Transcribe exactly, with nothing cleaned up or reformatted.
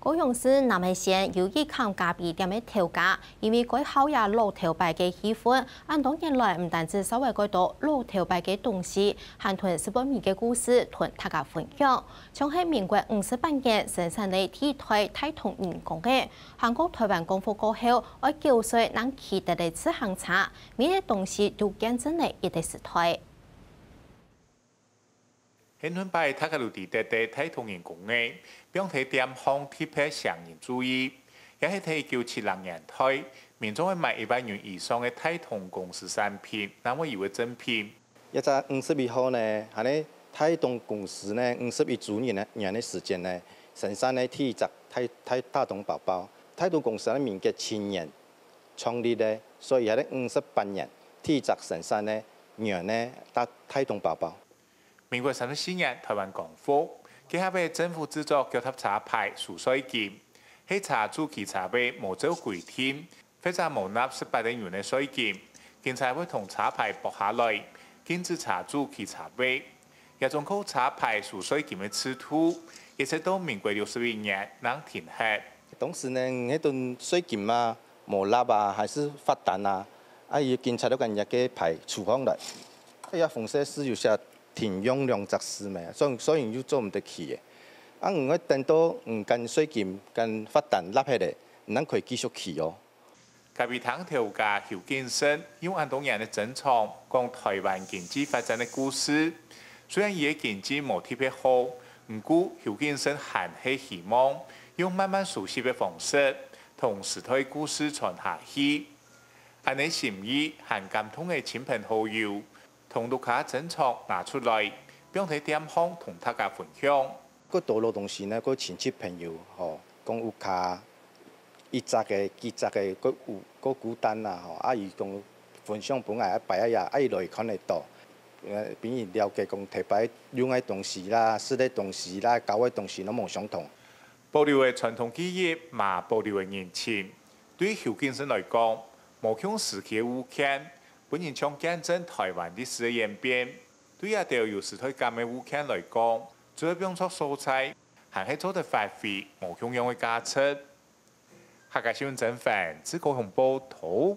高雄市南門線有一間咖啡店个頭家，因為該好這老頭擺个氣氛，恁多年來毋單止少會蓋多老頭擺个東西，還同食飯味个故事同大家分享。像係民國五十八年生產个第一台大同人工个，還過台灣光復過後，愛九歲正騎得个自行車，每個東西都見證了一個時代。 現今擺大家都知得个大同人工个，放在店項特別唌人注意，也係在一九七零年代，民眾愛買一萬元以上个大同公司產品，正會有个贈品。這隻五十一號呢，恁呢大同公司呢五十一週年呢年个時間呢，生產呢第一隻大大大同包包。大同公司呢民國七年創立个，所以這个五十八年第一隻生產呢元呢大大同包包。 民國三十四年，台灣光復，該下个政府製作腳踏車牌收稅金，係車主騎車个無照規定，或者無納十八個銀个稅金，警察會同車牌剝下來，禁止車主騎車个。這種靠車牌收稅金个制度，一直到民國六十一年正停忒。當時呢，該種稅金啊，無納啊，還係罰單啊，啊，佢警察都將這个牌除項來。 哎呀，紅色字有寫停用兩隻字咩，所以所以就做毋得去个。啊，毋過等到毋間稅金、間罰單納忒咧，毋正可以繼續去哦。咖啡廳頭家邱景生用恁多年个珍藏，講台灣經濟發展个故事。雖然佢个經濟無特別好，毋過邱景生還係希望用慢慢熟悉个方式，同時代故事傳下去。恁呢心意還感動个親朋好友， 同屋下珍藏拿出來，放在店項同大家分享。過多老東西呢，過親戚朋友吼，講屋下一隻个、幾隻个，過有過孤單啦吼，啊，佢講分享分𠊎，啊，擺啊也，啊，佢來看得到，呃，分佢了解講頭擺用个東西啦、食个東西啦、交个東西攏無相同。 保留个傳統技藝，嘛保留个人情。對邱景生來講，無共時期个物件，本人像見證台灣歷史个演變。對這兜有時代感个物件來講，只愛放著所在，還係做得發揮無共樣个價值。客家新聞曾凡，自高雄報導。